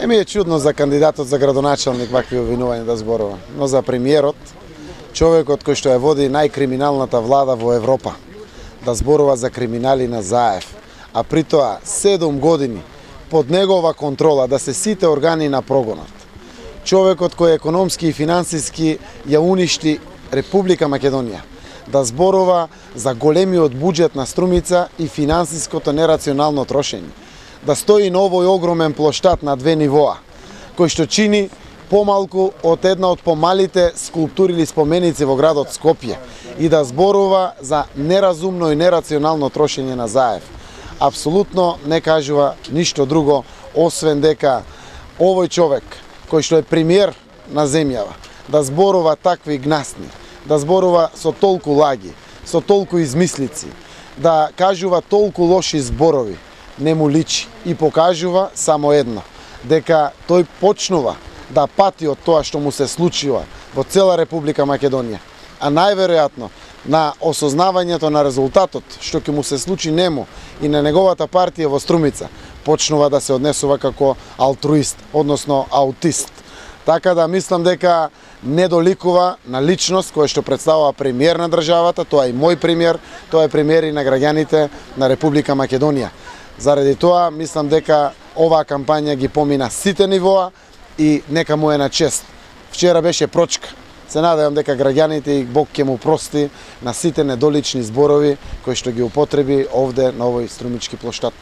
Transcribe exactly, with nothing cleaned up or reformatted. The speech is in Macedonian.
Не ми е чудно за кандидатот за градоначалник вакви обвинувања да зборува, но за премиерот, човекот кој што ја води најкриминалната влада во Европа, да зборува за криминали на Заев, а при тоа седум години под негова контрола да се сите органи на прогонот. Човекот кој економски и финансиски ја уништи Република Македонија, да зборува за големиот буџет на Струмица и финансиското нерационално трошење, да стои на овој огромен плоштад на две нивоа, кој што чини помалку од една од помалите скулптури или споменици во градот Скопје и да зборува за неразумно и нерационално трошење на Заев. Апсолутно не кажува ништо друго, освен дека овој човек, кој што е премиер на земјава, да зборува такви гнасни, да зборува со толку лаги, со толку измислици, да кажува толку лоши зборови, не му личи и покажува само едно, дека тој почнува да пати од тоа што му се случува во цела Република Македонија, а најверојатно на осознавањето на резултатот што ќе му се случи нему и на неговата партија во Струмица, почнува да се однесува како алтруист, односно аутист. Така да мислам дека не доликува на личност која што представува премиер на државата, тоа е и мој премиер, тоа е премиер и на граѓаните на Република Македонија. Заради тоа мислам дека оваа кампања ги помина сите нивоа и нека му е на чест. Вчера беше прочка. Се надевам дека граѓаните и Бог ќе му прости на сите недолични зборови кои што ги употреби овде на овој струмички плоштад.